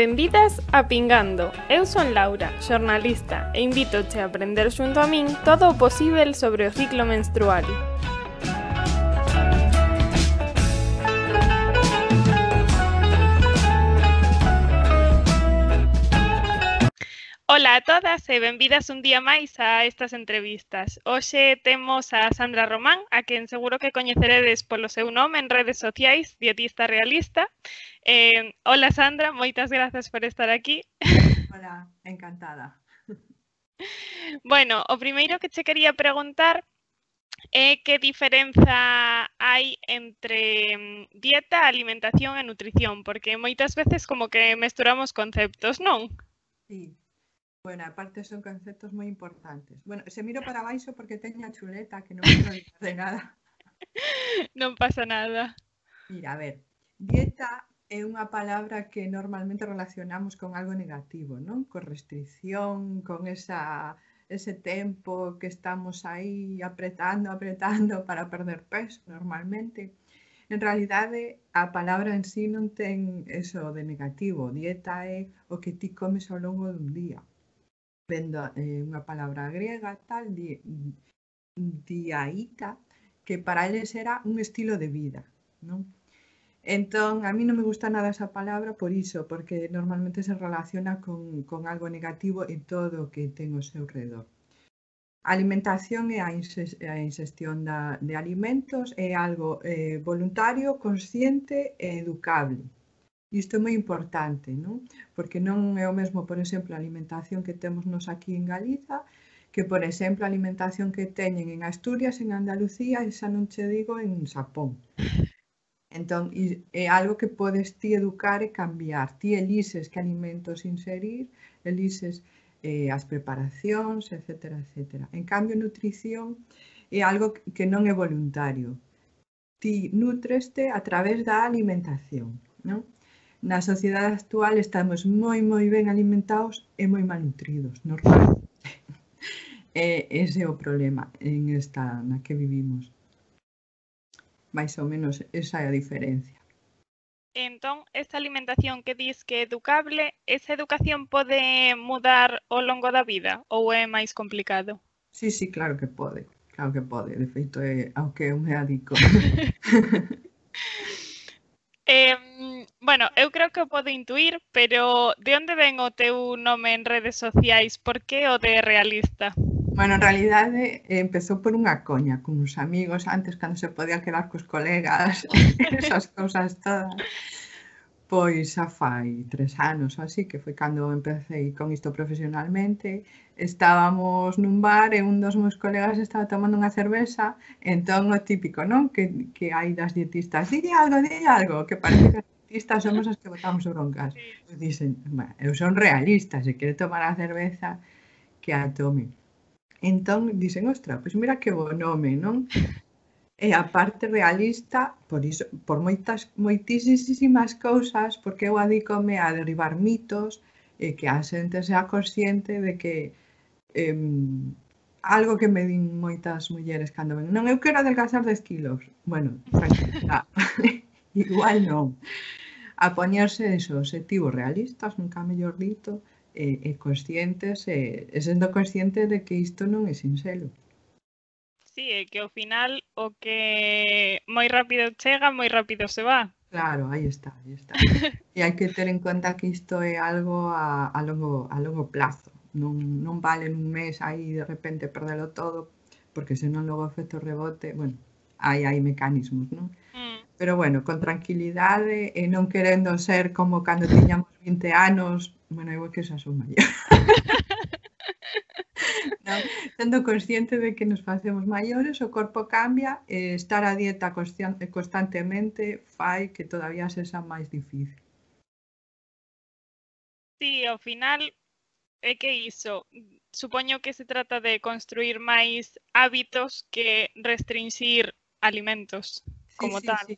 Benvidas a Pingando. Eu son Laura, xornalista, e invítoche a aprender xunto a min todo o posíbel sobre o ciclo menstrual. Ola a todas e benvidas un día máis a estas entrevistas. Hoxe temos a Sandra Román, a quen seguro que coñeceredes polo seu nome en redes sociais, dietista realista. Ola Sandra, moitas grazas por estar aquí. Hola, encantada. Bueno, o primeiro que che quería preguntar é que diferenza hai entre dieta, alimentación e nutrición, porque moitas veces como que mesturamos conceptos, non? Sí, bueno, aparte son conceptos moi importantes. Bueno, se miro para baixo porque teño a chuleta que non quero olvidar de nada. Non pasa nada. Mira, a ver, dieta é unha palabra que normalmente relacionamos con algo negativo, non? Con restricción, con ese tempo que estamos aí apretando para perder peso normalmente. En realidade, a palabra en sí non ten eso de negativo. Dieta é o que ti comes ao longo dun día. Vendo unha palabra griega, tal, diaita, que para eles era un estilo de vida, non? Entón, a mí non me gusta nada esa palabra por iso, porque normalmente se relaciona con algo negativo en todo o que ten ao seu redor. A alimentación e a ingestión de alimentos é algo voluntario, consciente e educable. Isto é moi importante, non? Porque non é o mesmo, por exemplo, a alimentación que temos nos aquí en Galiza, que, por exemplo, a alimentación que teñen en Asturias, en Andalucía, e xa non che digo en Xapón. Entón, é algo que podes ti educar e cambiar. Ti elises que alimentos inserir, elises as preparacións, etcétera, etcétera. En cambio, nutrición é algo que non é voluntario. Ti nutreste a través da alimentación, non? Na sociedade actual estamos moi ben alimentados e moi mal nutridos, normalmente. Ese é o problema na que vivimos. Mais ou menos esa é a diferencia. Entón, esta alimentación que dis que é educable, esa educación pode mudar ao longo da vida ou é máis complicado? Sí, claro que pode. Claro que pode. De feito, é ao que eu me adico. Bueno, eu creo que o podo intuir, pero de onde ven o teu nome en redes sociais? Por que o de realista? Bueno, en realidade empezou por unha coña con uns amigos antes cando se podía quedar cos colegas, esas cousas todas. Pois xa fai 3 anos ou así, que foi cando empecé con isto profesionalmente. Estábamos nun bar e un dos meus colegas estaba tomando unha cerveza, entón o típico, non? Que hai das dietistas, dille algo, que parece que as dietistas somos as que botamos broncas. Pois dicen, eu son realista, se quere tomar a cerveza, que a tome. Entón dicen, ostra, pois mira que bo nome, non? E a parte realista, por iso, por moitísimas cousas, porque eu adícome a derribar mitos e que a xente sea consciente de que algo que me din moitas mulleres cando ven, non, eu quero adelgazar 10 kilos. Bueno, tranquila, igual non. A poñerse esos obxectivos realistas, nunca mellor dito, e conscientes, e sendo consciente de que isto non é sinxelo. Sí, é que ao final o que moi rápido chega, moi rápido se va. Claro, aí está. E hai que ter en conta que isto é algo a longo plazo. Non vale nun mes aí de repente perdelo todo, porque senón logo o efecto rebote, bueno, hai mecanismos, non? Pero bueno, con tranquilidade e non querendo ser como cando tiñamos 20 anos, bueno, eu que xa son maior. Non? Sendo consciente de que nos facemos maiores, o corpo cambia e estar a dieta constantemente fai que todavía sexa máis difícil. Sí, ao final é que iso, supoño que se trata de construir máis hábitos que restringir alimentos como tal. Sí.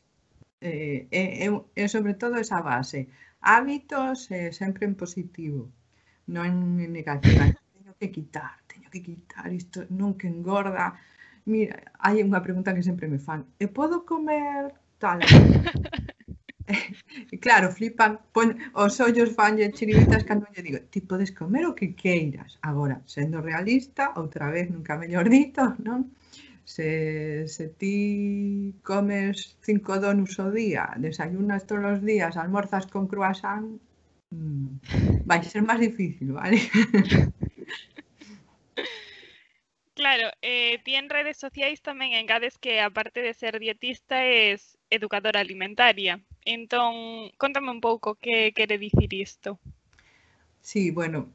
E sobre todo esa base. Hábitos sempre en positivo, non en negativa. Teño que quitar isto, non que engorda. Mira, hai unha pregunta que sempre me fan. E podo comer tal? claro, flipan, os ollos fanlle chiribitas cando lle digo, ti podes comer o que queiras. Agora, sendo realista, outra vez, nunca mellor dito, non? Se ti comes 5 donuts ao día, desayunas todos os días, almorzas con croissant, vai ser máis difícil, vale? Claro, ti en redes sociais tamén engades que, aparte de ser dietista, es educadora alimentaria. Entón, contame un pouco que quere dicir isto. Sí, bueno,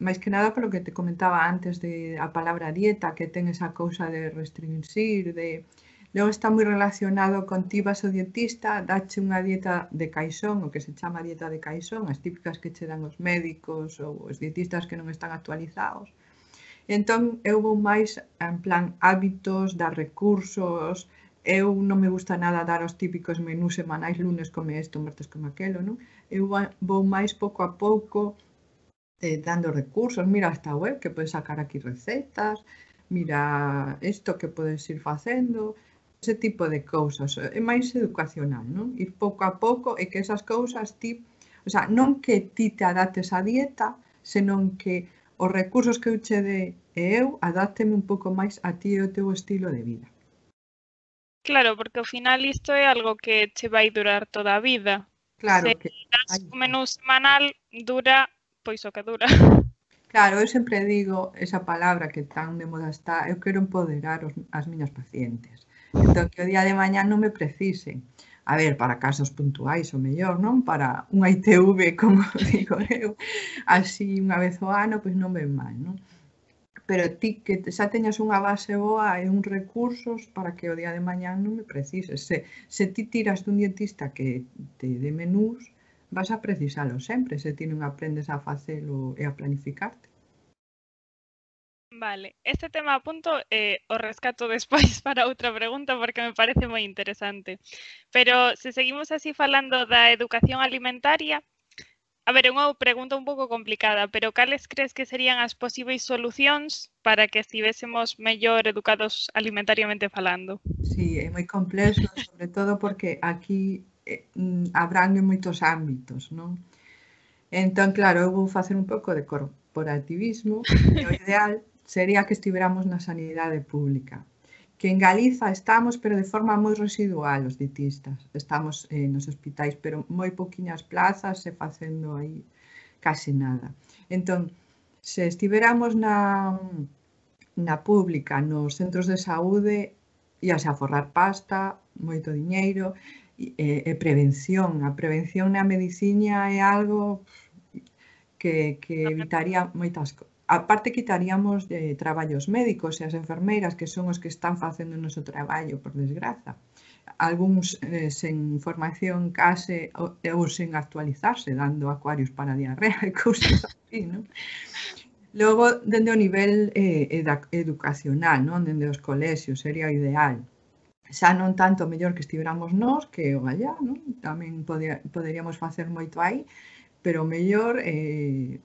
máis que nada polo que te comentaba antes de a palabra dieta, que ten esa cousa de restringir, de... Logo está moi relacionado con ti vas ao dietista, dache unha dieta de caixón, o que se chama dieta de caixón, as típicas que che dan os médicos ou os dietistas que non están actualizados. Entón, eu vou máis en plan hábitos, dar recursos, eu non me gusta nada dar os típicos menús semanais, lunes come isto, martes come aquelo, non? Eu vou máis pouco a pouco dando recursos, mira esta web que podes sacar aquí recetas, mira isto que podes ir facendo, ese tipo de cousas, é máis educacional, non? Ir pouco a pouco e que esas cousas ti, o sea, non que ti te adaptes á dieta, senón que os recursos que eu che dé e eu adápteme un pouco máis a ti e o teu estilo de vida. Claro, porque ao final isto é algo que che vai durar toda a vida. Claro Se que... das un menú semanal, dura pois o que dura. Claro, eu sempre digo esa palabra que tan de moda está, eu quero empoderar as miñas pacientes. Entón, que o día de mañá non me precisen. A ver, para casos puntuais o mellor, non? Para un ITV, como digo eu, así unha vez ao ano, pois non ven mal, non? Pero ti que xa teñas unha base boa e uns recursos para que o día de mañá non me precises. Se ti tiras dun dietista que te dé menús, vas a precisalo sempre, se ti non aprendes a facelo e a planificarte. Vale, este tema a punto o rescato despois para outra pregunta porque me parece moi interesante. Pero se seguimos así falando da educación alimentaria, a ver, é unha pregunta un pouco complicada, pero cales crees que serían as posíveis solucións para que estivésemos mellor educados alimentariamente falando? Sí, é moi complexo, sobre todo porque aquí abrangue moitos ámbitos, non? Entón, claro, eu vou facer un pouco de corporativismo e o ideal sería que estiveramos na sanidade pública. Que en Galiza estamos, pero de forma moi residual, os dietistas. Estamos nos hospitais, pero moi poquinhas plazas e facendo aí case nada. Entón, se estiveramos na pública, nos centros de saúde, íase a forrar pasta, moito diñeiro, e prevención. A prevención na medicina é algo que evitaría moitas cousas. Aparte, quitaríamos traballos médicos e as enfermeiras, que son os que están facendo o noso traballo, por desgraza. Algúns sen formación case ou sen actualizarse, dando acuarios para diarrea e cousas así, non? Logo, dende o nivel educacional, non? Dende os colexios, sería o ideal. Xa non tanto mellor que estiveramos nós, que o allá, non? Tamén poderíamos facer moito aí, pero mellor,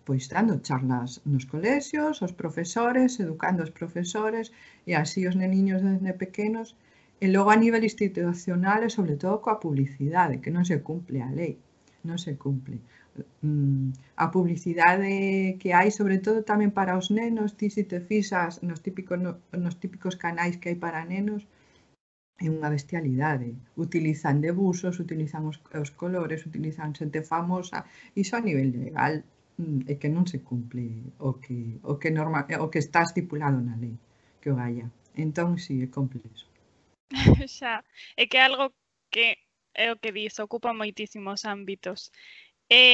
pois, dando charlas nos colexios, os profesores, educando os profesores, e así os neniños desde pequenos, e logo a nivel institucional e sobre todo coa publicidade, que non se cumple a lei, non se cumple. A publicidade que hai, sobre todo tamén para os nenos, ti se te fixas nos típicos canais que hai para nenos, é unha bestialidade. Utilizan debuxos, utilizan os colores, utilizan xente famosa, iso a nivel legal é que non se cumple o que está estipulado na lei, que o haya. Entón, si, é complexo. Xa, é que é algo que é o que dis, ocupa moitísimos ámbitos.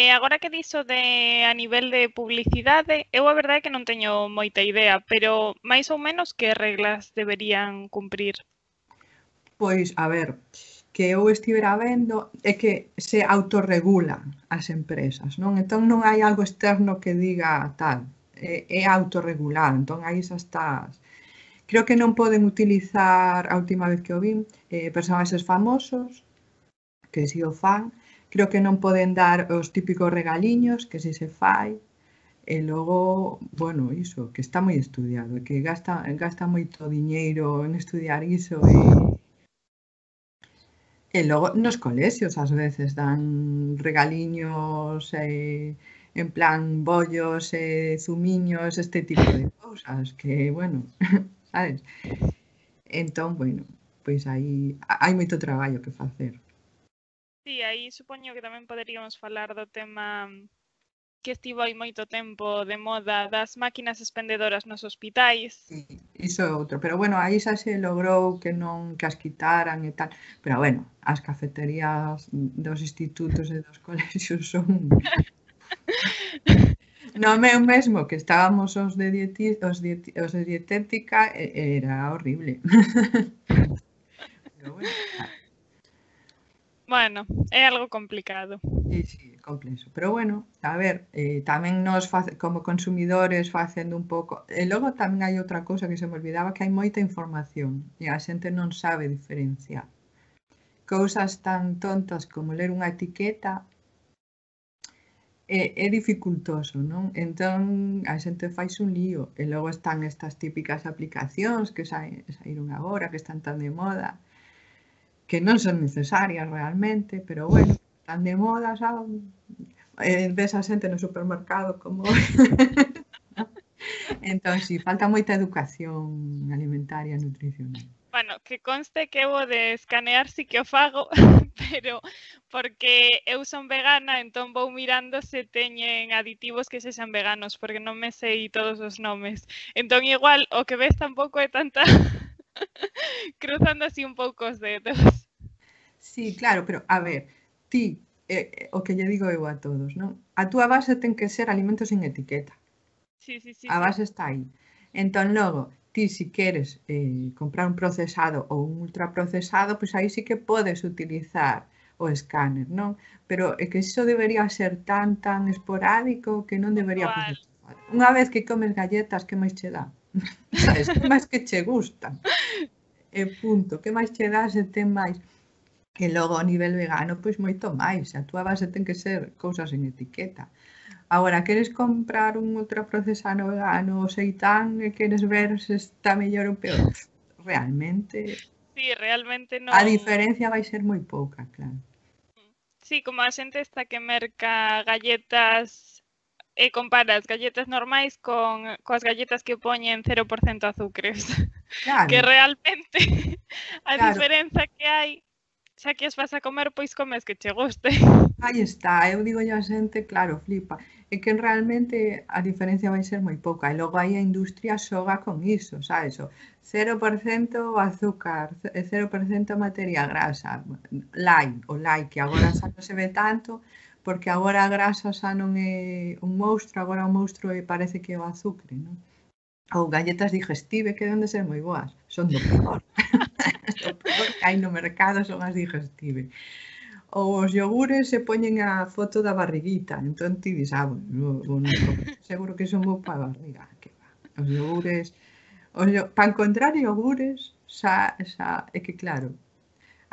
Agora que diso de a nivel de publicidade, eu a verdade é que non teño moita idea, pero máis ou menos que reglas deberían cumprir? Pois, a ver, que eu estivera vendo é que se autorregulan as empresas, non? Entón non hai algo externo que diga tal, é autorregulado, entón aí xa estás. Creo que non poden utilizar, a última vez que o vin, personaxes famosos, que si o fan, creo que non poden dar os típicos regaliños, que si se fai, e logo, bueno, iso, que está moi estudiado, que gasta moito diñeiro en estudiar iso, E logo nos colexios ás veces dan regaliños en plan bollos e zumiños, este tipo de cousas que, bueno, sabes? Entón, bueno, pois aí hai moito traballo que facer. Sí, aí supoño que tamén poderíamos falar do tema que estivo hai moito tempo de moda das máquinas expendedoras nos hospitais. Sí, iso é outro, pero bueno, aí xa se logrou que non que as quitaran e tal, pero bueno, as cafeterías dos institutos e dos colexios son no meu mesmo que estábamos os de dietética era horrible. Pero bueno, Bueno, é algo complicado. sí, sí, é complexo. Pero bueno, a ver, tamén nos como consumidores facendo un pouco. E logo tamén hai outra cousa que se me olvidaba, que hai moita información e a xente non sabe diferenciar. Cousas tan tontas como ler unha etiqueta é dificultoso, non? Entón a xente faise un lío e logo están estas típicas aplicacións que saíron agora, que están tan de moda, que non son necesarias realmente, pero bueno, están de moda, saben? Ves a xente no supermercado como entón, si, falta moita educación alimentaria e nutricional. Bueno, que conste que eu o de escanear sí que o fago, pero porque eu son vegana, entón vou mirando se teñen aditivos que sexan veganos, porque non me sei todos os nomes. Entón igual o que ves tampouco é tanta cruzando así un pouco os dedos. Sí, claro, pero a ver, ti, o que lle digo eu a todos, non? A túa base ten que ser alimentos sin etiqueta. Sí, sí, sí, A sí. base está aí. Entón, logo, ti si queres comprar un procesado ou un ultraprocesado, pois aí sí que podes utilizar o escáner, non? Pero é que iso debería ser tan esporádico que non debería Puntual. facer falta. Unha vez que comes galletas, que máis che dá? Sabes, que máis que che gustan? E punto, que máis che dá se ten máis? E logo a nivel vegano, pois moito máis. A túa base ten que ser cousas en etiqueta. Agora, queres comprar un ultraprocesado vegano ou seitán e queres ver se está mellor ou peor? Realmente, Sí, realmente non. a diferencia vai ser moi pouca, claro. Sí, como a xente está que merca galletas e compara as galletas normais coas galletas que poñen 0% azucres. Claro, Que realmente a claro, diferenza que hai, xa que as vas a comer, pois comes que che guste. aí está. Eu digo a xente, claro, flipa. É que realmente a diferencia vai ser moi pouca. E logo aí a industria xoga con iso, sabes? O 0% azúcar, 0% materia grasa, light, o light, que agora xa non se ve tanto, porque agora a grasa xa non é un monstro, agora o monstro parece que é o azúcar, non? Ou galletas digestive, que deben de ser moi boas. Son do peor. O peor que hai no mercado son as digestive. Ou os iogures se poñen a foto da barriguita, entón ti dis, bueno, seguro que son bo para a barriga. Que va. Os iogures, para encontrar iogures, é que claro,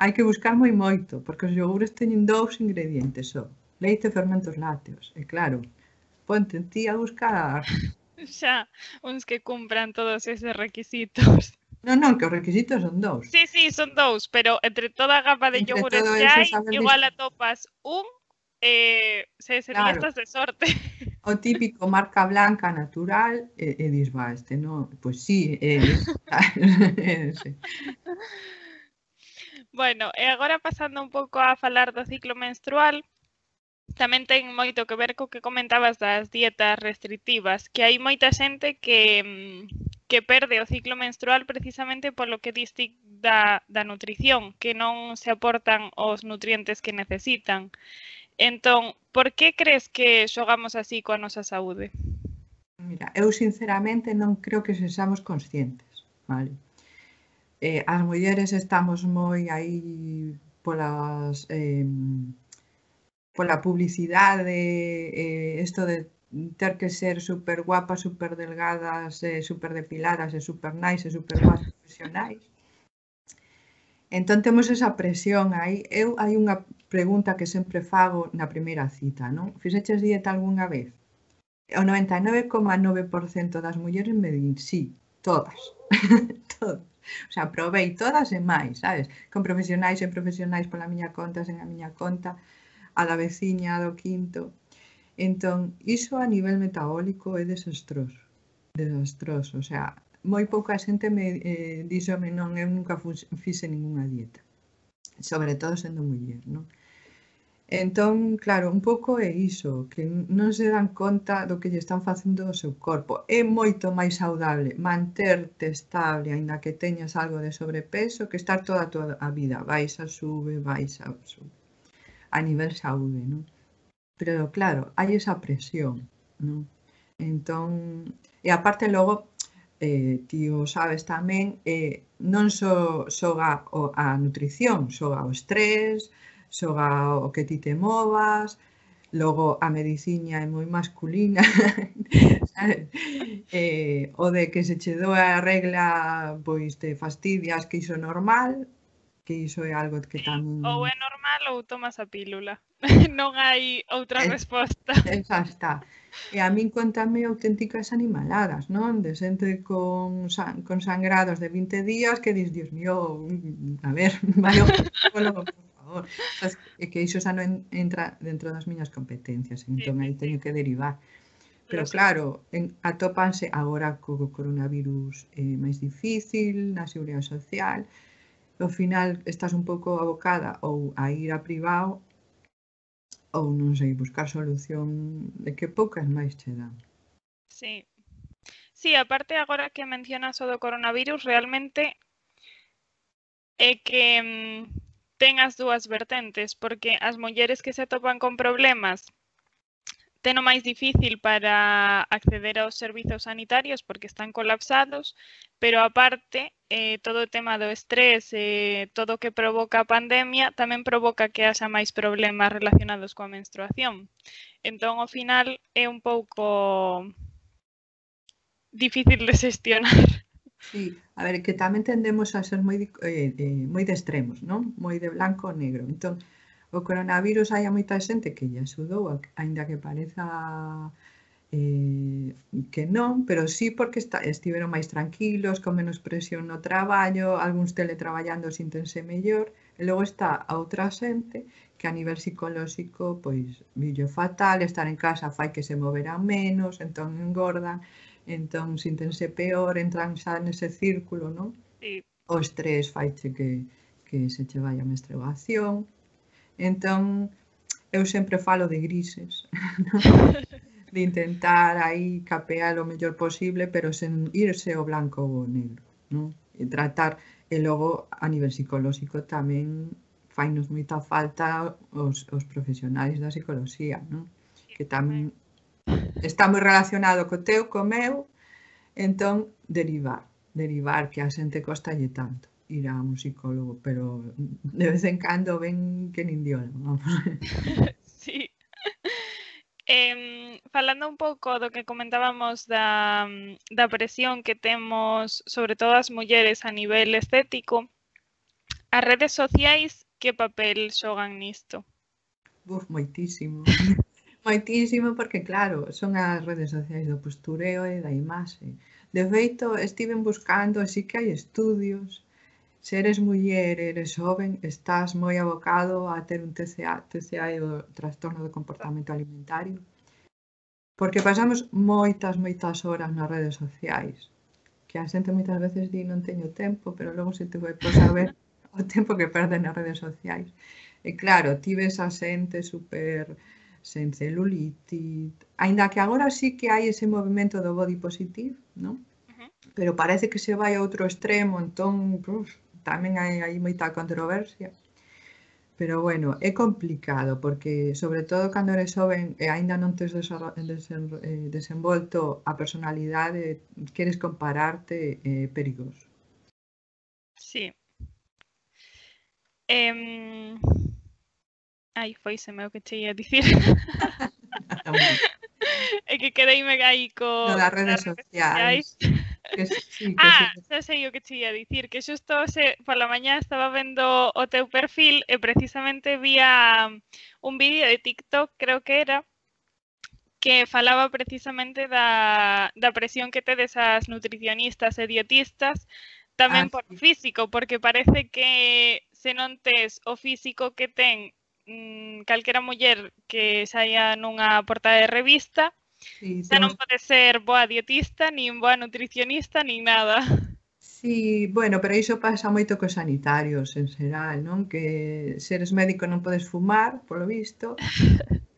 hai que buscar moito, porque os iogures teñen 2 ingredientes só, leite e fermentos lácteos, e claro, ponte ti a buscar. Xa, uns que cumpran todos eses requisitos. Non, que os requisitos son 2. Sí, sí, son 2, pero entre toda a gama de Entre yogures todo que eso, hai, sabes igual atopas un, se claro, estás de sorte. o típico marca blanca natural e dis, va, este non, pois sí, sí. Bueno, e agora pasando un pouco a falar do ciclo menstrual, tamén ten moito que ver co que comentabas das dietas restrictivas, que hai moita xente que perde o ciclo menstrual precisamente polo que diste da nutrición, que non se aportan os nutrientes que necesitan. Entón, por que crees que xogamos así coa nosa saúde? Mira, eu sinceramente non creo que sexamos conscientes, vale? As mulleres estamos moi aí polas pola publicidade, isto de ter que ser super guapas, super delgadas, super depiladas e super nice e super guapas profesionais. Entón temos esa presión aí. Hai unha pregunta que sempre fago na primeira cita, non? Fixeches dieta algunha vez? O 99,9% das mulleres me din sí, todas. Todas. O sea, probei todas e máis, sabes? Con profesionais e profesionais pola miña conta, sen a miña conta, a da veciña, a do quinto. Entón, iso a nivel metabólico é desastroso. Desastroso. O sea, moi pouca xente me díxome non, eu nunca fixe ningunha dieta. Sobre todo sendo muller, non? Entón, claro, un pouco é iso, que non se dan conta do que lle están facendo ao seu corpo. É moito máis saudable manterte estable, aínda que teñas algo de sobrepeso, que estar toda a vida. Baixa, sube, a nivel saúde, non? Pero claro, hai esa presión, non? Entón, e aparte logo, ti o sabes tamén, non só xoga a nutrición, xoga o estrés, xoga o que ti te movas, logo a mediciña é moi masculina, sabes? O de que se che doa a regla, pois te fastidias, que iso é normal, que iso é algo que tamén... Ou é normal ou tomas a pílula. Non hai outra resposta. Esa está. E a min contame auténticas animaladas, non? De xente con sangrados de 20 días que dis, Dios mío, a ver, vai ao psicólogo, por favor. É que iso xa non entra dentro das miñas competencias, entón aí teño que derivar. Pero claro, atópanse agora co coronavirus máis difícil, na seguridade social, ao final estás un pouco abocada ou a ir a privado ou non sei, buscar solución de que poucas máis che dan. Sí. Sí, aparte agora que mencionas o do coronavirus, realmente é que ten as dúas vertentes, porque as mulleres que se topan con problemas ten o máis difícil para acceder aos servizos sanitarios porque están colapsados, pero aparte todo o tema do estrés, todo o que provoca a pandemia, tamén provoca que haxa máis problemas relacionados coa menstruación. Entón, ao final, é un pouco difícil de xestionar. Sí, a ver, que tamén tendemos a ser moi de extremos, non? Moi de blanco ou negro. Entón, o coronavirus hai a moita xente que lle axudou, aínda que pareza que non, pero sí porque estiveron máis tranquilos, con menos presión no traballo, algúns teletraballando sintense mellor, e logo está a outra xente que a nivel psicolóxico, pois, villo fatal, estar en casa fai que se moverán menos, entón engordan, entón sintense peor, entran xa nese círculo, non? Sí. O estrés faiche que se che vai a menstruación. Entón, eu sempre falo de grises, non? De intentar aí capear o mellor posible, pero sen irse ao blanco ou ao negro, non? E tratar, e logo a nivel psicolóxico tamén fainos moita falta os profesionais da psicoloxía, non? Que tamén está moi relacionado co teu, co meu, entón derivar que a xente costalle tanto ir a un psicólogo, pero de vez en cando ven que nin diola, vamos. Sí. Falando un pouco do que comentábamos da presión que temos, sobre todo as mulleres a nivel estético, as redes sociais que papel xogan nisto? Moitísimo. Moitísimo porque, claro, son as redes sociais do postureo e da imaxe. De feito, estiven buscando, así que hai estudios. Se eres muller, eres joven, estás moi abocado a ter un TCA. TCA é o trastorno do comportamento alimentario. Porque pasamos moitas horas nas redes sociais. Que a xente moitas veces di non teño tempo, pero logo se te vai por saber o tempo que perde nas redes sociais. E claro, ti ves a xente super sen celulite, aínda que agora sí que hai ese movimento do body positive, non? Pero parece que se vai a outro extremo, entón tamén hai moita controversia. Pero bueno, é complicado, porque sobre todo cando eres xoven e aínda non tes desenvolto a personalidade, queres compararte, é perigoso. Sí. Ai, foiseme o que che ia dicir. É que quedeime aí co das redes sociais. Xa sei o que che ia dicir, que xusto pola mañá estaba vendo o teu perfil e precisamente vía un vídeo de TikTok, creo que era, que falaba precisamente da presión que tedes as nutricionistas e dietistas, tamén por físico, porque parece que se non tes o físico que ten calquera muller que saia nunha portada de revista, xa non pode ser boa dietista, nin boa nutricionista, nin nada. Sí, bueno, pero iso pasa moito cos sanitarios en xeral, non? Que se eres médico non podes fumar, polo visto,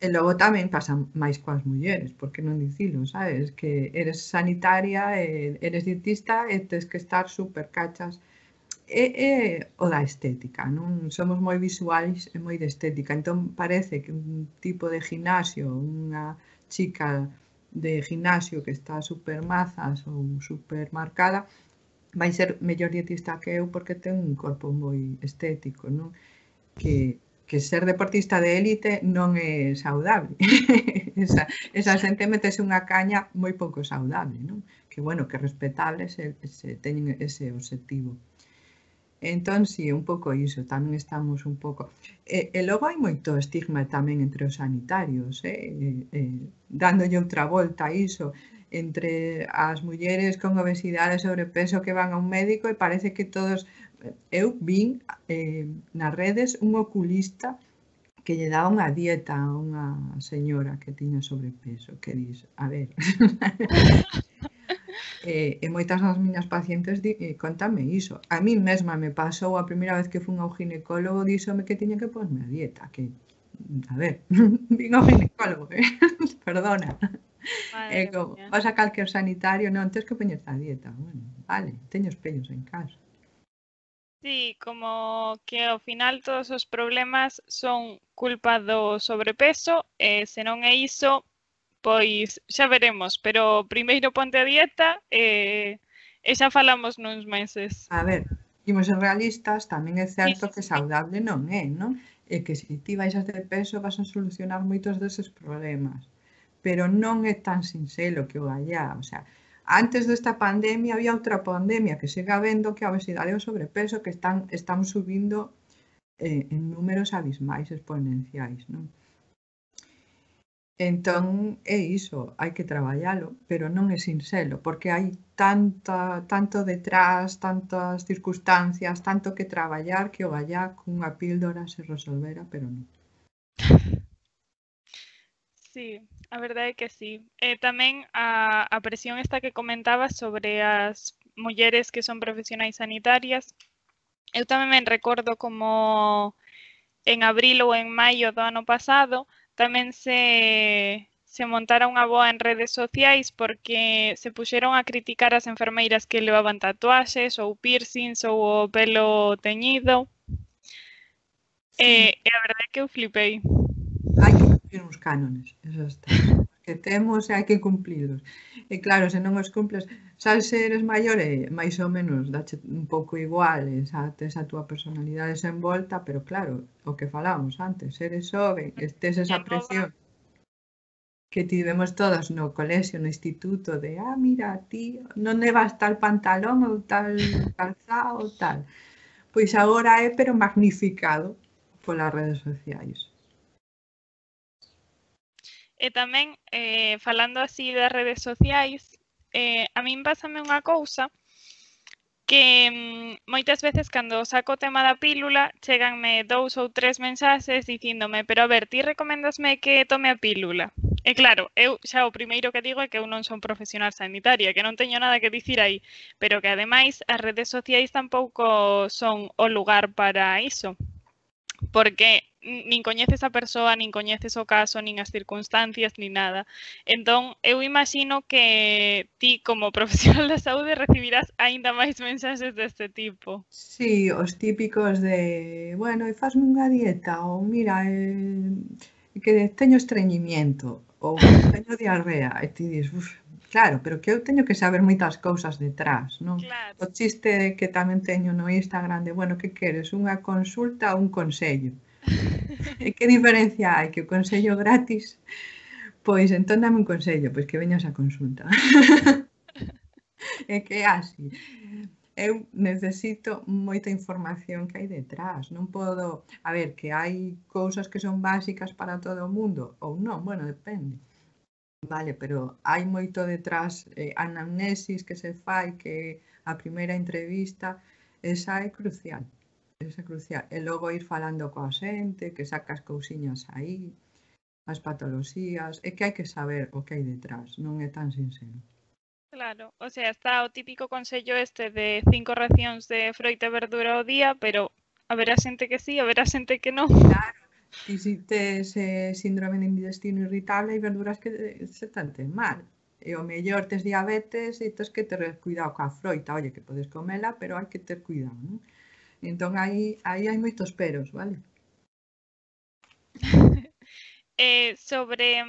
e logo tamén pasa máis coas mulleres, porque non dicilo, sabes? Que eres sanitaria, eres dietista e tes que estar super cachas. É o da estética, non? Somos moi visuais e moi de estética, entón parece que un tipo de gimnasio, unha chica de gimnasio que está super mazas ou super marcada, vai ser mellor dietista que eu porque ten un corpo moi estético, non? Que ser deportista de élite non é saudable. esa xente metese unha caña moi pouco saudable, non? Que, bueno, que respetable se teñen ese objetivo. Entón, si, un pouco iso, tamén estamos un pouco... E logo hai moito estigma tamén entre os sanitarios, dándolle outra volta a iso, entre as mulleres con obesidade e sobrepeso que van a un médico e parece que todos... Eu vin nas redes un oculista que lle daba unha dieta a unha señora que tiña sobrepeso, que dis, a ver... E moitas das miñas pacientes contame iso. A mí mesma me pasou a primeira vez que fun ao ginecólogo, díxome que tiña que ponerme a dieta, que, a ver, vin ao ginecólogo, perdona. É como, vas a calquer sanitario, non, tens que poñerte a dieta. Bueno, vale, teño espellos en casa. Sí, como que ao final todos os problemas son culpa do sobrepeso e se non é iso, pois xa veremos, pero primeiro ponte a dieta e xa falamos nuns meses. A ver, imos ser realistas, tamén é certo que saudable non é, non? E que se ti baixas de peso vas a solucionar moitos deses problemas. Pero non é tan sinxelo que o gallá, o sea, antes desta pandemia había outra pandemia que siga habendo que a obesidade e o sobrepeso que están subindo en números abismais exponenciais, non? Entón, é iso, hai que traballalo, pero non é sinxelo, porque hai tanto detrás, tantas circunstancias, tanto que traballar que o gallá cunha píldora se resolvera, pero non. Sí, a verdade é que sí. Tamén a presión esta que comentabas sobre as mulleres que son profesionais sanitarias, eu tamén me recordo como en abril ou en maio do ano pasado tamén se montara unha boa en redes sociais porque se puxeron a criticar as enfermeiras que levaban tatuaxes ou piercings ou o pelo teñido. E a verdade é que eu flipei. Hai que cumplir uns cánones, eso está. Que temos e hai que cumplilos. E claro, se non os cumples, xa se eres maior e máis ou menos dache un pouco igual, tes a túa personalidade desenvolta, pero claro, o que falábamos antes, eres xoven, tes esa presión que tivemos todas no colexio, no instituto, de, mira, ti non levas tal pantalón ou tal calzado ou tal. Pois agora é, pero magnificado polas redes sociais. E tamén, falando así das redes sociais, a min pásame unha cousa que moitas veces cando saco o tema da pílula cheganme 2 ou 3 mensaxes dicíndome, pero a ver, ti recoméndasme que tome a pílula? E claro, eu xa o primeiro que digo é que eu non son profesional sanitaria, que non teño nada que dicir aí, pero que ademais as redes sociais tampouco son o lugar para iso, porque nin coñeces a persoa, nin coñeces o caso, nin as circunstancias, nin nada. Entón, eu imagino que ti, como profesional da saúde, recibirás aínda máis mensaxes deste tipo. Sí, os típicos de, bueno, fasme unha dieta, ou mira, que teño estreñimiento, ou teño diarrea, e ti dis, claro, pero que eu teño que saber moitas cousas detrás, non? Claro. O chiste que tamén teño no Instagram de, bueno, que queres, unha consulta ou un consello? E que diferencia hai? Que o consello gratis? Pois entón dame un consello, pois que veñas a consulta. É que é así. Eu necesito moita información que hai detrás. Non podo... A ver, que hai cousas que son básicas para todo o mundo, ou non, bueno, depende. Vale, pero hai moito detrás, anamnesis que se fai, que a primeira entrevista, esa é crucial. Esa é crucial. E logo ir falando coa xente, que sacas cousiñas aí, as patoloxías, é que hai que saber o que hai detrás, non é tan sincero. Claro, o sea, está o típico consello este de 5 racións de froita e verdura ao día, pero haberá xente que sí, haberá xente que non. Claro, ti si tes síndrome de intestino irritable hai verduras que se tanten mal. E o mellor tes diabetes e tes que ter cuidado coa froita, oye, que podes comela, pero hai que ter cuidado, non? Entón aí hai moitos peros, vale? Sobre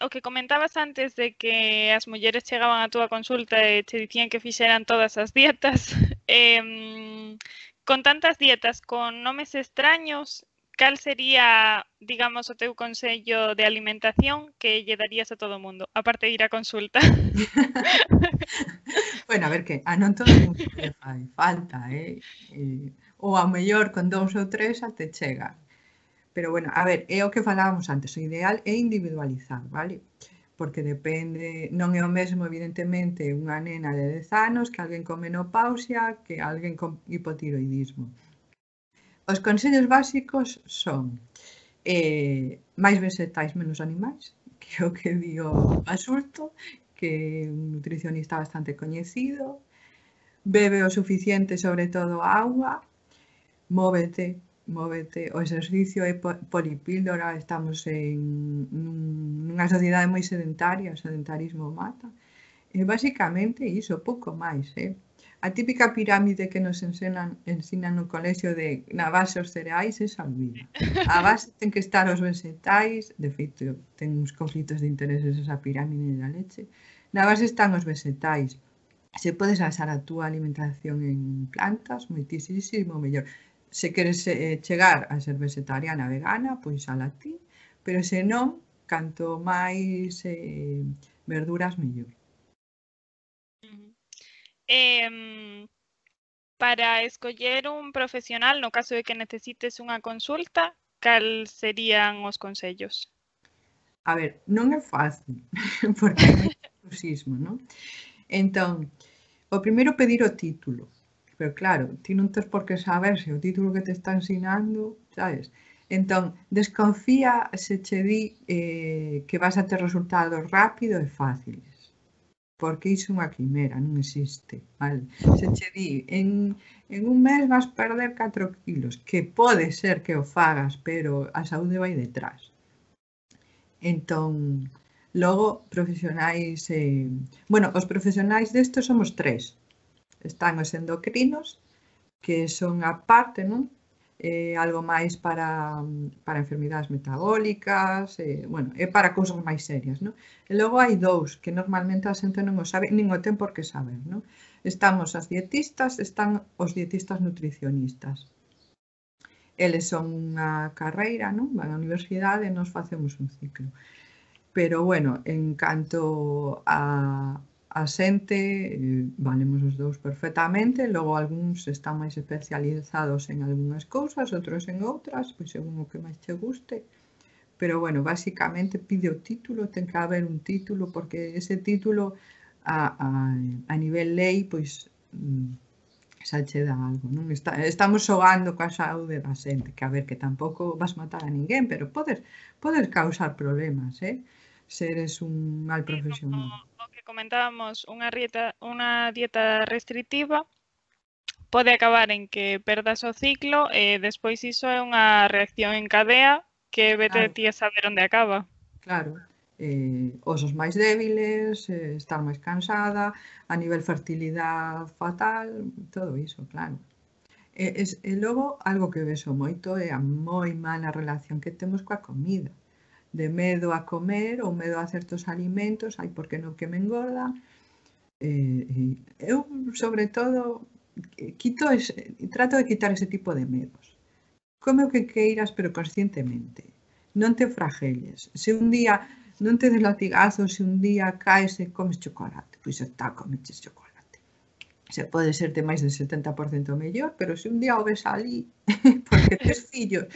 o que comentabas antes de que as mulleres chegaban á túa consulta e che dicían que fixeran todas as dietas, con tantas dietas con nomes extraños, cal sería, digamos, o teu consello de alimentación que lle darías a todo o mundo, aparte de ir á consulta? Bueno, a ver que a non todo o mundo lle fai falta, ou ao mellor con 2 ou 3 até chega. Pero bueno, a ver, é o que falábamos antes, o ideal é individualizar, vale? Porque depende, non é o mesmo, evidentemente, unha nena de 10 anos que alguén con menopausia, que alguén con hipotiroidismo. Os consellos básicos son máis vegetais, menos animais, que é o que di o Basulto, que é un nutricionista bastante coñecido, bebe o suficiente, sobre todo auga, móvete, o exercicio é polipíldora, estamos nunha sociedade moi sedentaria, o sedentarismo mata, e basicamente iso, pouco máis, A típica pirámide que nos ensinan no colexio de na base os cereais, esa olvida. A base ten que estar os vegetais, de feito, ten uns conflitos de intereses esa pirámide da leche, na base están os vegetais. Se podes basar a túa alimentación en plantas, moitísimo mellor. Se queres chegar a ser vegetariana, vegana, pois ala ti, pero se non, canto máis verduras, mellor. Para escoller un profesional, no caso de que necesites unha consulta, cal serían os consellos? A ver, non é fácil, porque hai moito exclusismo, non? Entón, o primeiro pedir o título. Pero claro, ti non tes por que saber se o título que te está ensinando, sabes? Entón, desconfía se che di que vas a ter resultados rápido e fáciles. Porque iso é unha quimera, non existe, vale? Se che di, en un mes vas perder 4 kilos, que pode ser que o fagas, pero a saúde vai detrás. Entón, logo, profesionais... Bueno, os profesionais destos somos 3. Están os endocrinos, que son a parte, non? Algo máis para enfermidades metabólicas, bueno, é para cousas máis serias, non? E logo hai 2, que normalmente a xente non o sabe, nin o ten por que saber, non? Estamos as dietistas, están os dietistas nutricionistas. Eles son unha carreira, non? Van á universidade e nos facemos un ciclo. Pero, bueno, en canto a xente, valemos os 2 perfectamente, logo algúns están máis especializados en algunhas cousas, outros en outras, pois según o que máis che guste. Pero, bueno, basicamente pide o título, ten que haber un título, porque ese título a nivel lei, pois xa che dá algo, non? Estamos xogando coa saúde da xente, que a ver, que tampouco vas matar a ninguén, pero podes causar problemas, se eres un mal profesional. O que comentábamos, unha dieta restrictiva pode acabar en que perdas o ciclo e despois iso é unha reacción en cadea que vete Claro. ti a saber onde acaba. Claro, osos máis débiles, estar máis cansada, a nivel fertilidade fatal, todo iso, claro. E logo, algo que vexo moito é a moi mala relación que temos coa comida. De medo a comer ou medo a certos alimentos, ai, porque non que me engorda. Eu, sobre todo, trato de quitar ese tipo de medos. Come o que queiras, pero conscientemente. Non te fragelles. Se un día non te des latigazos, se un día caes e comes chocolate, pois está, comeches chocolate. se pode ser de máis de 70% mellor, pero se un día o ves ali porque tes fillos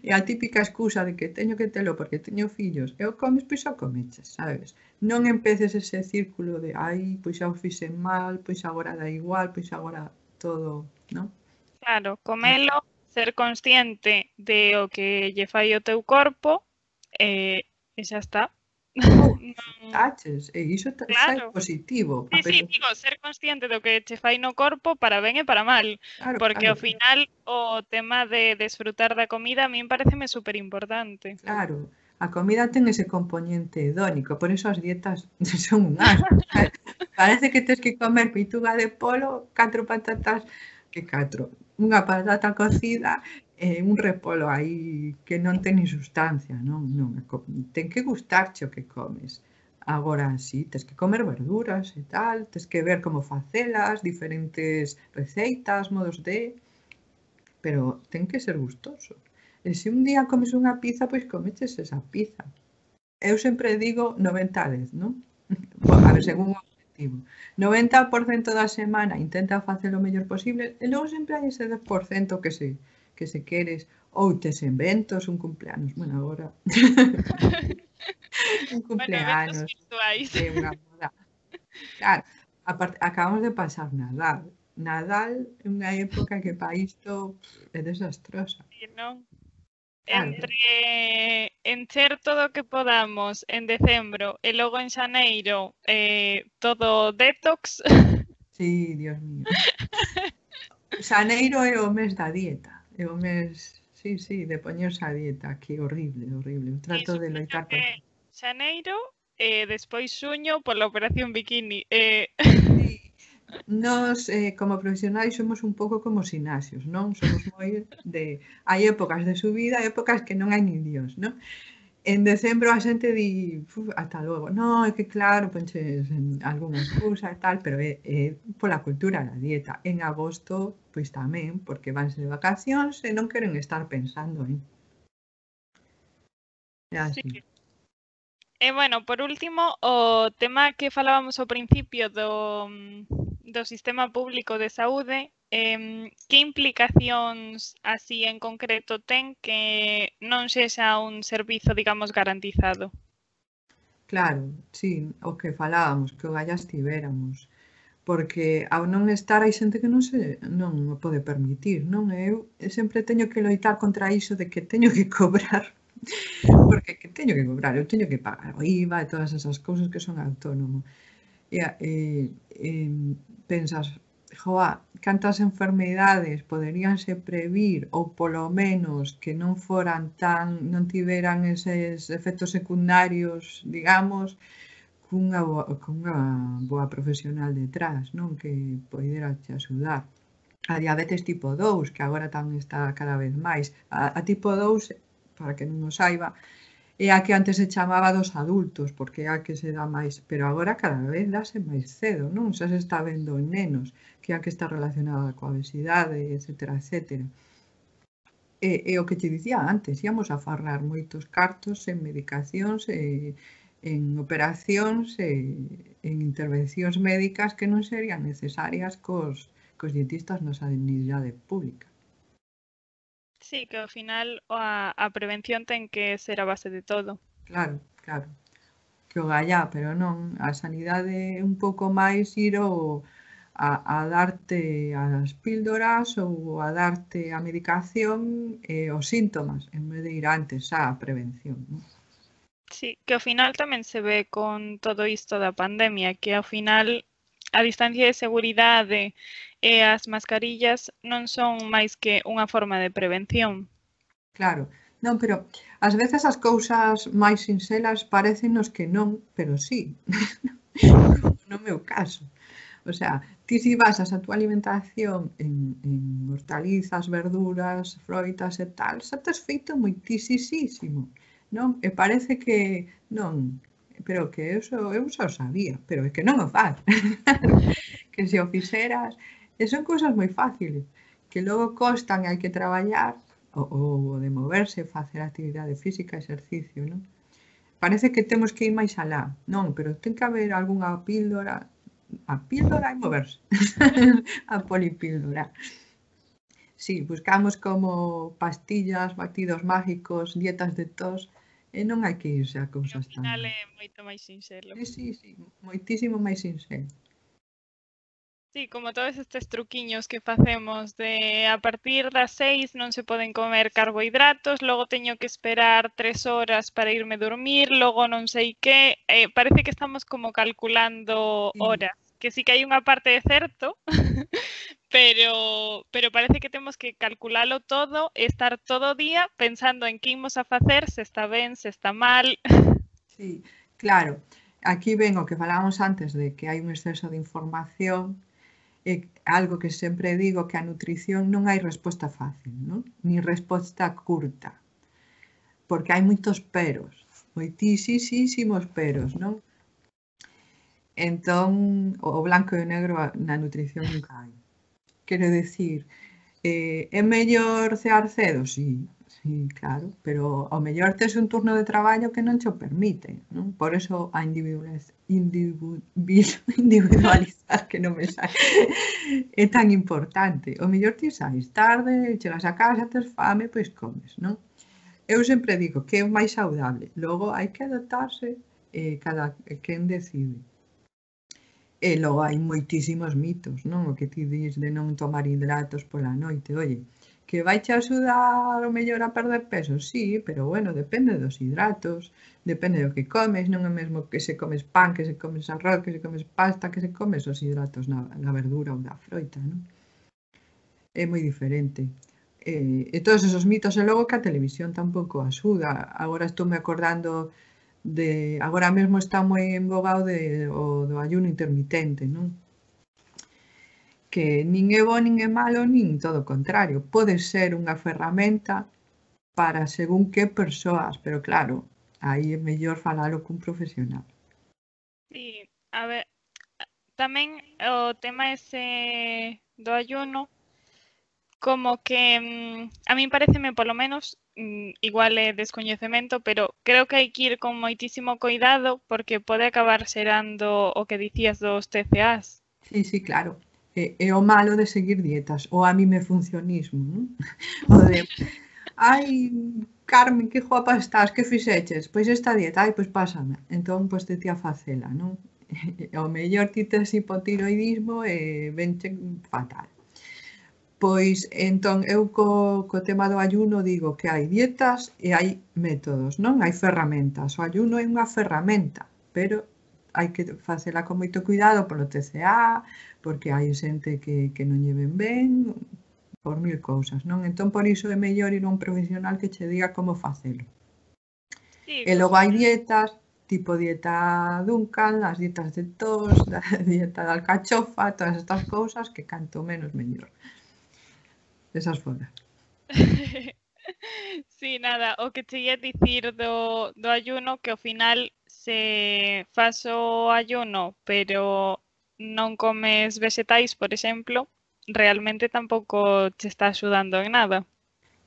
e a típica excusa de que teño que telo porque teño fillos e o comes, pois o comeches, sabes? Non empeces ese círculo de ai, pois xa o fixen mal, pois agora dá igual, pois agora todo, non? Claro, comelo, ser consciente de o que lle fai o teu corpo e xa está. Ou Non, taches, e iso xa é claro. positivo, Sí, sí, digo, ser consciente do que che fai no corpo para ben e para mal, claro, porque claro, ao final o tema de desfrutar da comida a min pareceme super importante. claro. A comida ten ese componente hedónico, por iso as dietas son un asco. Parece que tes que comer peituga de polo, 4 patatas, que 4, unha patata cocida e un repolo aí que non ten nin sustancia, non, non, ten que gustarche o que comes. Agora sí, tes que comer verduras e tal, tes que ver como facelas, diferentes receitas, modos de, pero ten que ser gustoso. E se un día comes unha pizza, pois comeches esa pizza. Eu sempre digo 90-10, non? A ver, según o objetivo. 90% da semana intenta facer o mellor posible e logo sempre hai ese 10% que se queres ou tes eventos, un cumpleanos, bueno, agora un Bueno, eventos cumpleanos, virtuais. unha boda. Claro, aparte, acabamos de pasar Nadal. Nadal é unha época que para isto é desastrosa. Sí, non? Claro, Entre encher todo o que podamos en decembro e logo en xaneiro todo detox. sí, Dios mío. Xaneiro é o mes da dieta, é o mes, sí, sí, de poñerse a dieta, que horrible, horrible. Eu trato Iso, de creo loitar que contra. xaneiro e despois xuño pola operación bikini. Sí, nos, como profesionais, somos un pouco como os ximnasios, non? Somos moi de... Hai épocas de subida, épocas que non hai nin Dios, non? En decembro a xente di, ata logo. Non, é que claro, ponches algunha excusa e tal, pero é pola cultura da dieta. En agosto, pois tamén, porque vanse de vacacións e non queren estar pensando en... É Sí. así. E bueno, por último, o tema que falábamos ao principio do sistema público de saúde, que implicacións así en concreto ten que non sexa un servizo, digamos, garantizado? Claro, sí, o que falábamos, que o galla estivéramos. Porque ao non estar hai xente que non o pode permitir, non? E eu sempre teño que loitar contra iso de que teño que cobrar, porque que teño que cobrar, eu teño que pagar o IVA e todas esas cousas que son autónomo. E pensas, joa, cantas enfermidades poderíanse previr ou polo menos que non foran tan, non tiveran eses efectos secundarios, digamos, cunha boa profesional detrás, non? Que poidera te axudar. A diabetes tipo 2, que agora tamén está cada vez máis. A tipo 2, para que non o saiba, é a que antes se chamaba dos adultos, porque é a que se dá máis, pero agora cada vez dáse máis cedo, non? Xa se está vendo en nenos, que é a que está relacionada coa obesidade, etcétera, etcétera. E o que te dicía antes, íamos a farrar moitos cartos en medicacións en operacións en intervencións médicas que non serían necesarias cos dietistas na sanidade pública. Sí, que ao final a prevención ten que ser a base de todo. Claro, claro. Que o gallá, pero non, a sanidade é un pouco máis ir a darte as píldoras ou a darte a medicación e os síntomas, en vez de ir antes á prevención, non? Sí, que ao final tamén se ve con todo isto da pandemia, que ao final a distancia de seguridade e as mascarillas non son máis que unha forma de prevención. Claro, non, pero ás veces as cousas máis sinxelas parécennos que non, pero sí, no meu caso. O sea, ti si basas a túa alimentación en hortalizas, verduras, froitas e tal, xa tes feito moitisísimo, non? E parece que non, pero que eu xa o sabía, pero é que non o faz. Que se o fixeras, e son cousas moi fáciles, que logo costan e hai que traballar, o de moverse, facer actividade física, exercicio, non? Parece que temos que ir máis alá, non, pero ten que haber algunha píldora, a píldora e moverse. A polipíldora. Sí, buscamos como pastillas, batidos mágicos, dietas de tos, e non hai que irse a E ao cousas tan... final é moito máis sinxelo. Sí, moitísimo máis sinxelo. Sí, como todos estes truquiños que facemos de a partir das 6 non se poden comer carbohidratos, logo teño que esperar 3 horas para irme dormir, logo non sei que, parece que estamos como calculando Sí, horas, que sí que hai unha parte de certo, pero parece que temos que calculalo todo e estar todo o día pensando en que imos a facer, se está ben, se está mal. sí, claro. Aquí ven o que falábamos antes de que hai un exceso de información, algo que sempre digo, que a nutrición non hai resposta fácil, non? Ni resposta curta, porque hai moitos peros, moitísimos peros, non? Entón, o blanco e o negro na nutrición nunca hai. Quero decir, é mellor cear cedo? Sí, claro, pero ao mellor tes un turno de traballo que non che o permite, non? Por eso a individualizar, que non me sai, é tan importante. O mellor ti sais tarde, chegas a casa, tes fame, pois comes, non? Eu sempre digo que é o máis saudable. Logo hai que adaptarse, cada quen decide. E logo hai moitísimos mitos, non? O que ti dis de non tomar hidratos pola noite. Oye, que vai che axudar o mellor a perder peso? Sí, pero bueno, depende dos hidratos, depende do que comes, non é mesmo que se comes pan, que se comes arroz, que se comes pasta, que se comes os hidratos na verdura ou na froita, non? É moi diferente. E todos esos mitos, e logo que a televisión tampouco axuda. Agora estou me acordando agora mesmo está moi en boga do ayuno intermitente, non? Que nin é bo nin é malo, nin todo o contrario. Pode ser unha ferramenta para según que persoas, pero claro, aí é mellor falalo cun profesional. Sí, a ver, tamén o tema ese do ayuno, como que a min pareceme polo menos, igual é descoñecemento, pero creo que hai que ir con moitísimo cuidado porque pode acabar xerando o que dicías dos TCAs. Sí, claro. É o malo de seguir dietas, ou a mí me funcionismo, non? O de, ai, Carmen, que guapa estás, que fixeches? Pois esta dieta, ai, pois pásame. Entón, pois te ti a facela, non? O mellor ti tes hipotiroidismo e venche fatal. Pois, entón, eu co tema do ayuno digo que hai dietas e hai métodos, non? Hai ferramentas. O ayuno é unha ferramenta, pero hai que facela con moito cuidado polo TCA, porque hai xente que non lle ven ben, por mil cousas, non? Entón, por iso é mellor ir a un profesional que che diga como facelo. Sí, E co logo hai final, dietas, tipo dieta Duncan, as dietas de tos, a dieta de alcachofa, todas estas cousas que canto menos mellor. Esas fora. sí, nada, o que che ia dicir do ayuno, que ao final se fas o ayuno, pero non comes vegetais, por exemplo, realmente tampouco che está axudando en nada.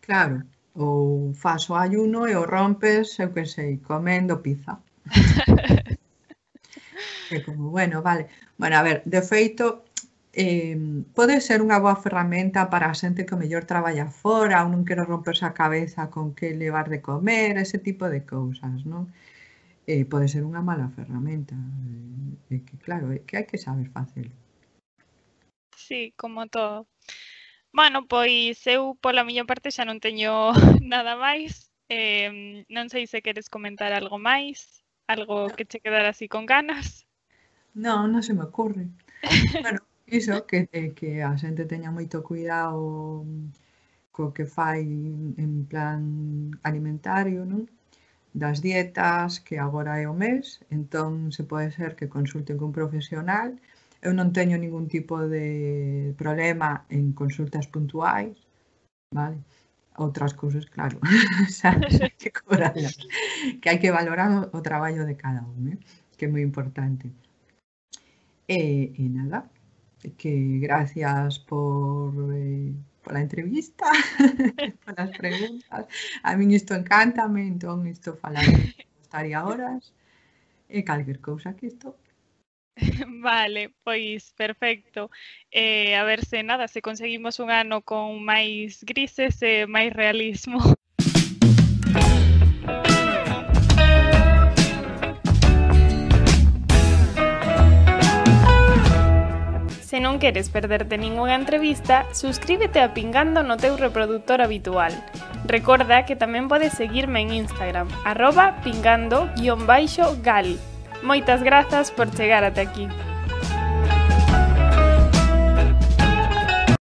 Claro, ou fas o ayuno e o rompes, eu que sei, comendo pizza. É como, bueno, vale. Bueno, a ver, de feito, pode ser unha boa ferramenta para a xente que o mellor traballa fora ou non quero romperse a cabeza con que levar de comer, ese tipo de cousas, non? Pode ser unha mala ferramenta. Que claro, é que hai que saber facelo. Sí, como todo. Bueno, pois eu pola miña parte xa non teño nada máis. Non sei se queres comentar algo máis, algo que che quedara así con ganas. Non, non se me ocurre. Bueno, iso, que a xente teña moito cuidado co que fai en plan alimentario, non? Das dietas, que agora é o mes, entón se pode ser que consulten cun profesional. Eu non teño ningún tipo de problema en consultas puntuais, vale? Outras cousas, claro, xa hai que cobralas, que hai que valorar o traballo de cada un, que é moi importante. E nada, que gracias pola entrevista, polas preguntas. A min isto encántame, entón isto falar estaría horas e calquer cousa que isto Vale, pois perfecto. A ver se nada, se conseguimos un ano con máis grises e máis realismo. Se non queres perderte ningunha entrevista, suscríbete a Pingando no teu reproductor habitual. Recorda que tamén podes seguirme en Instagram, @pingando_gal. Moitas grazas por chegar ata aquí.